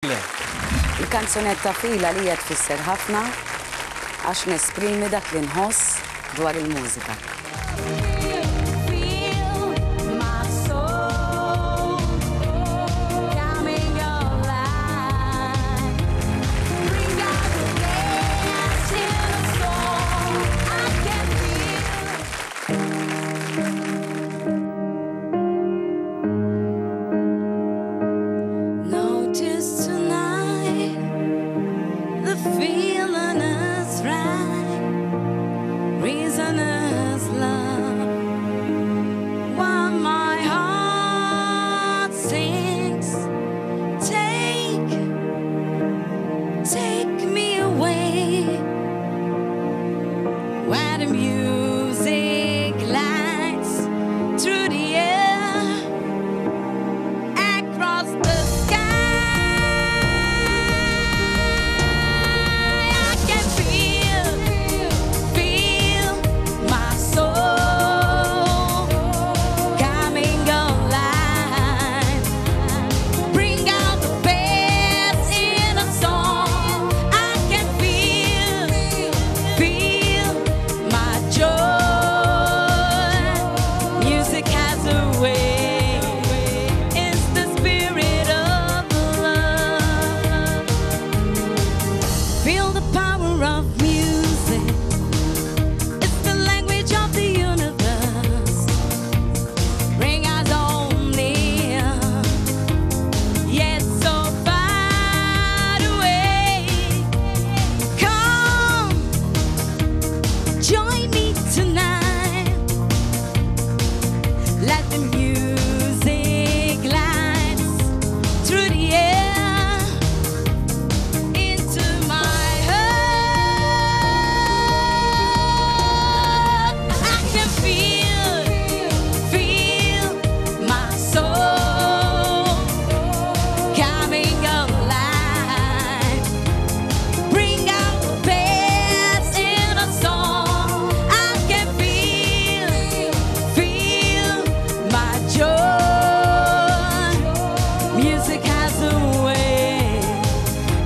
Le. Il-kanzunetta Feel għalija tfisser ħafna għax nesprimi dak li nħoss dwar il-mużika. Notice tonight the feeling is right, reason is love. While my heart sings, take, take me away. Where the music lights through the air across the sky. I can feel, feel my soul coming alive. Bring out the best in a song. I can feel, feel my joy. Music has a way. It's the spirit of love. Feel the power of music. It's the language of the universe. Bring us all near. Yet so far away. Come, join me tonight. Let the music glide through the air into my heart. I can feel, feel my soul coming alive. Bring out the best in a song. I can feel, feel my joy. Music has a way.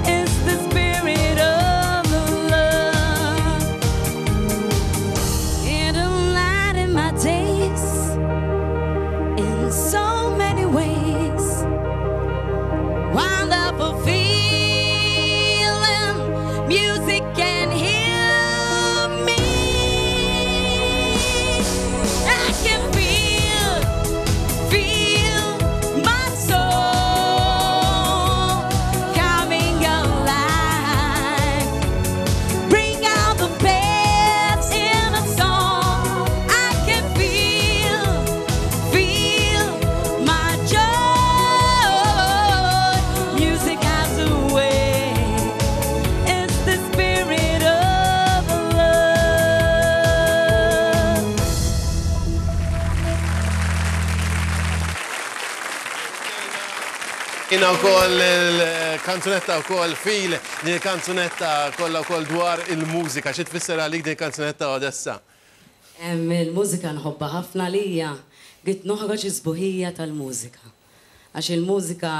It's the spirit of love. It'll lighten my days in so many ways. Wonderful feeling, music can heal me. I can feel, feel my soul coming alive. Bring out the best in a song. I can feel, feel my joy. Music has a way. It's the spirit of love. Jina wkoll il-kanzunetta wkoll Feel, din il-kanzunetta kollha wkoll dwar il-mużika. Xi tfisser għalik din il-kanzunetta Odessa? Il-mużika nħobbha ħafna għalija, ridt noħroġ is-sbuħija tal-mużika. Għax il-mużika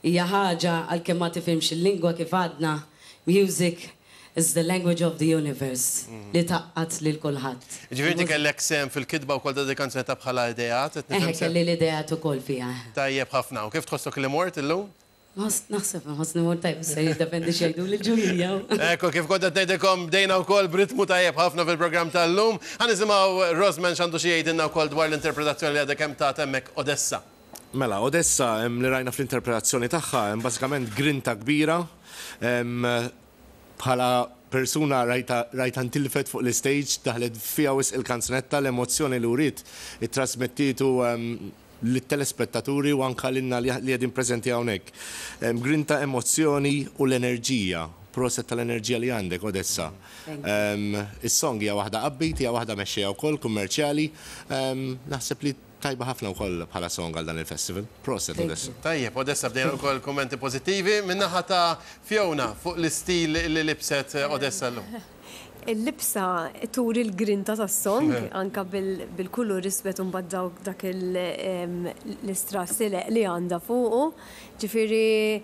hija ħaġa għalkemm ma tifhimx il-lingwa kif għadna, music is the language of the universe li tgħaqqad lil kulħadd. Ġifieri inti kellek sehem fil-kitba wkoll ta' din il-kanzunetta bħala ideat, qed nifhem Eħe, kelli l-ideat ukoll fiha, eħe. Tajjeb ħafna. U kif tħossok li mort illum? Naħseb nħossni mort tajjeb, issa jiddependi x'jgħiduli l-ġurija. Ekku, kif kont qed ngħidilkom bdejna wkoll b'ritmu tajjeb ħafna fil-programm tal-lum. Ħa nisimgħu Rosman x'għandu xi jgħidilna wkoll dwar l-interpretazzjoni li għadha kemm tat hemmhekk Odessa. Mela, Odessa li rajna fl-interpretazzjoni tagħha hemm bażikament grinta kbira. Bħala persuna rajtha rajtha ntilfet fuq l-istage, daħlet fiha wisq il-kanzunetta, l-emozzjoni li wriet ittrasmettietu lit-telespettaturi u anke lilna li qegħdin preżenti hawnhekk. Grinta, emozzjoni u l-enerġija. Proset tal-enerġija li għandek, Odessa. Is-song hija waħda upbeat, hija waħda mexxejja wkoll, kummerċjali. Naħseb li tajba ħafna wkoll bħala song għal dan il-festival. Proset, Odessa. Tajjeb, Odessa bdejna wkoll kummenti pożittivi min-naħa ta' Fiona fuq l-istil li libset Odessa llum. Il-libsa turi l-grinta tas-song anke bil-kulur iswed u mbagħad dawk dak l-istrass ileqq li għandha fuqu. Ġifieri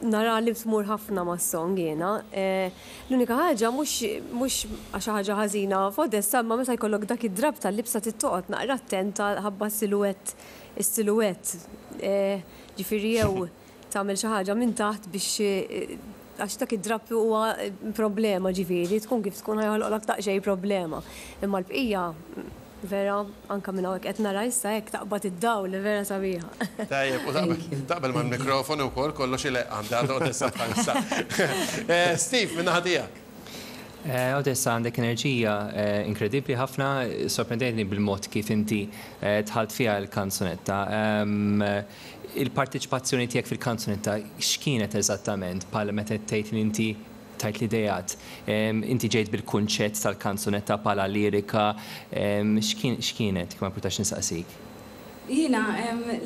nara li tmur ħafna mas-song jiena. L-unika ħaġa mhux mhux għax xi ħaġa ħażina f'Odessa imma meta jkollok dak id-drapp tal-libsa trid toqgħod naqra attenta ħabba s-siluwett is-siluwett. Ġifieri jew tagħmel xi ħaġa minn taħt biex għax dak id-drapp huwa problema ġifieri, tkun kif tkun ħa joħloqlok daqsxejn problema. Imma l-bqija vera anke minn hawnhekk qed nara issa hekk taqbad id-dawl vera sabiħa. Tajjeb, u taqbel mal-mikrofonu wkoll kollox ileqq għandha Odessa bħalissa. Steve, min-naħa tiegħek. Odessa għandek enerġija inkredibbli ħafna, sorprendejtni bil-mod kif inti dħalt fiha l-kanzunetta. Il-parteċipazzjoni tiegħek fil-kanzunetta x'kienet eżattament bħala meta tgħid li inti tajt l-ideat? Inti ġejt bil-kunċett tal-kanzunetta bħala lirika, x'kienet, jekk ma jimpurtax nistaqsik? Jiena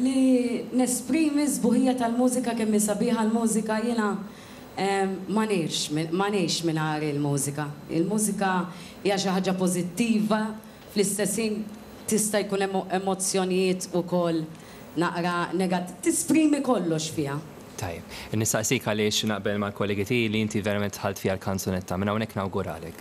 li nesprimi s-sbuħija tal-mużika kemm hi sabiħa l-mużika jiena ma ngħix ma ngħix mingħajr il-mużika. Il-mużika hija xi ħaġa pożittiva fl-istess ħin tista' jkun hemm emozzjonijiet ukoll naqra negat tisprimi kollox fiha. Tajjeb. Nistaqsik għaliex naqbel mal-kollegi tiegħi li inti verament dħalt fiha l-kanzunetta. Minn hawnhekk nawguralek.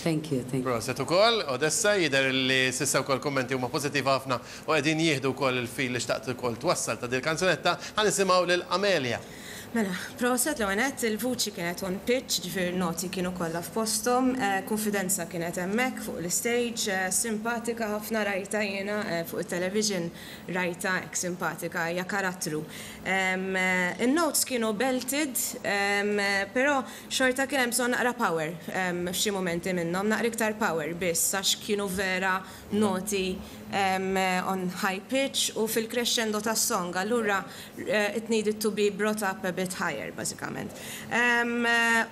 Thank you, thank you. Proset ukoll, Odessa, jidher li s'issa wkoll kummenti huma pożittivi ħafna u qegħdin jieħdu wkoll il-fil li xtaqt ukoll twassal ta' dil-kanzunetta. Ħa nisimgħu lil Amelia. Mela, proset l-ewwel nett, il-vuċi kienet on pitch, ġifieri n-noti kienu kollha f'posthom, kunfidenza kienet hemmhekk fuq l-istage, simpatika ħafna rajtha jiena fuq it-television rajtha hekk simpatika, hija karattru. In-notes kienu belted, però xorta kien hemm bżonn naqra power f'xi mumenti minnhom, naqra iktar power biss għax kienu vera noti on high pitch u fil-crescendo tas-song, allura it needed to be brought up a bit higher bażikament.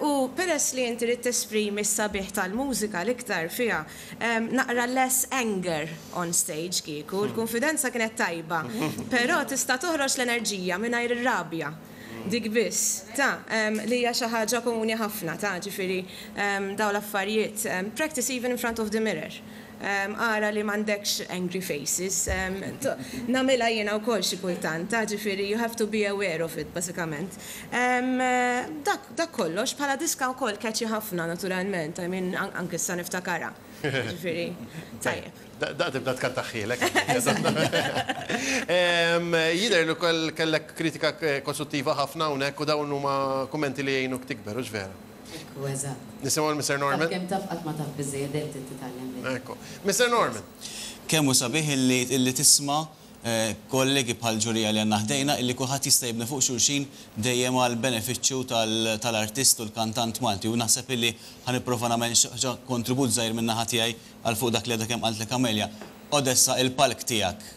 U peress li inti ridt tesprimi s-sabiħ tal-mużika l-iktar fiha, naqra less anger on stage kieku, il-kunfidenza kienet tajba, però tista' toħroġ l-enerġija mingħajr ir-rabja. Dik biss, ta, li hija xi ħaġa komuni ħafna, ta, ġifieri dawn l-affarijiet, practice even in front of the mirror. Ara li m'għandekx angry faces. Nagħmilha jiena wkoll xi kultant, ta, ġifieri you have to be aware of it bażikament. Dak, dak kollox, bħala diska wkoll catchy ħafna naturalment, I mean anke issa niftakarha. Ġifieri, tajjeb. Daqt tibda tkantaħħielek. Jidher li wkoll kellek kritika kostruttiva ħafna hawnhekk u dawn huma kummenti li jgħinuk tikber, hux vera? Ekku, eżatt. Nisimgħu lil Mister Norman. Taf kemm taf qatt ma taf biżżejjed dejjem trid titgħallem dejjem. Ekku. Mister Norman. Kemm hu sabiħ illi illi tisma' kollegi bħal ġurija li għandna ħdejna illi kulħadd jista' jibni fuq xulxin dejjem għall-benefiċċju tal-artist u l-kantant Malti u naħseb illi ħa nipprova nagħmel xi ħaġa kontribut żgħir min-naħa tiegħi għal fuq dak li għadha kemm qaltlek Amelia. Odessa, il-palk tiegħek.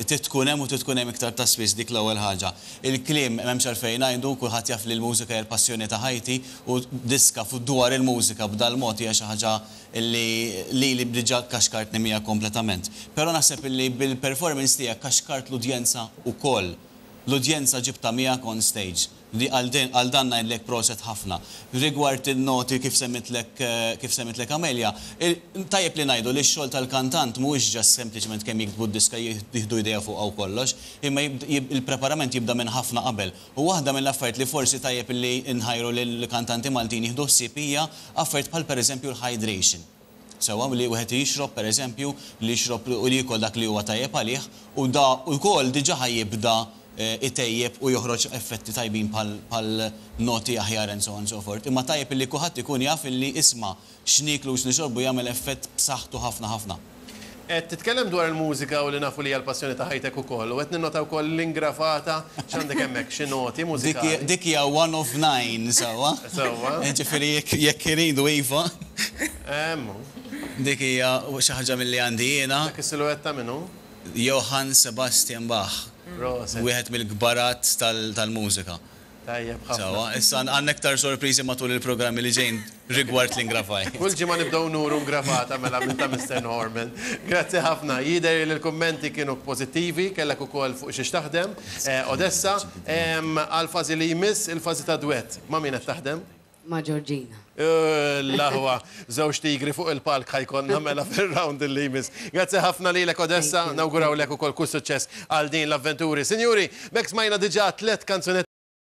Trid tkun hemm u trid tkun hemm iktar ta' spiss, dik l-ewwel ħaġa. Il-kliem m'hemmx għalfejn ngħidu, kulħadd jaf li l-mużika hija l-passjoni ta' ħajti u diska dwar il-mużika b'dal-mod hija xi ħaġa li lili diġà kaxkartni miegħek kompletament. Però naħseb illi bil-performance tiegħek kaxkart l-udjenza wkoll. L-udjenza ġibtha miegħek on stage. Li għal din, għal dan ngħidlek proset ħafna. Rigward in-noti kif semmitlek, kif semmitlek Amelia, tajjeb li ngħidu li x-xogħol tal-kantant mhuwiex just sempliċement kemm jiktbu d-diska jieħdu idea fuqha u kollox, imma il-preparament jibda minn ħafna qabel. U waħda mill-affarijiet li forsi tajjeb li nħajru lill-kantanti Maltin jieħdu ħsieb hija affarijiet bħal pereżempju l-hydration. Sewwa, li wieħed jixrob, per eżempju, li jixrob u li jiekol dak li huwa tajjeb għalih, u da wkoll diġà ħa jibda itejjeb u joħroġ effetti tajbin bħal bħal noti aħjar and so on and so forth. Imma tajjeb illi kulħadd ikun jaf illi isma' x'nieklu u x'nixorbu jagħmel effett b'saħħtu ħafna ħafna. Qed titkellem dwar il-mużika u li nafu li hija l-passjoni ta' ħajtek ukoll u qed ninnota wkoll l-ingrafata x'għandek hemmhekk, xi noti mużikali. Dik hija one of nine, sewwa? Sewwa. Jiġifieri jekk jekk iridu iva. Hemm hu. Dik hija xi ħaġa milli għandi jiena. Dak is-siluwett ta' min hu? Johann Sebastian Bach. Proset. Wieħed mill-kbarat tal-mużika. Tajjeb ħafna. Sewwa, issa għandna iktar sorpriżi matul il-programmi li ġejjin rigward l-ingrafaj. Kull ġimgħa nibdew nuru ngrafata mela minn ta' Mister Norman. Grazzi ħafna. Jidher li l-kummenti kienu pożittivi, kellek ukoll fuq xiex taħdem. Odessa, għall-fażi li jmiss, il-fażi ta' dwett. Ma' min qed taħdem? Ma' Georgina. L-aħwa, żewġ tigri fuq il-palk ħa jkollna mela fir-round li jmiss. Grazzi ħafna lilek, Odessa, nawgurawlek ukoll kull suċċess għal din l-avventuri. Sinjuri, b'hekk smajna diġà tliet kanzunetti.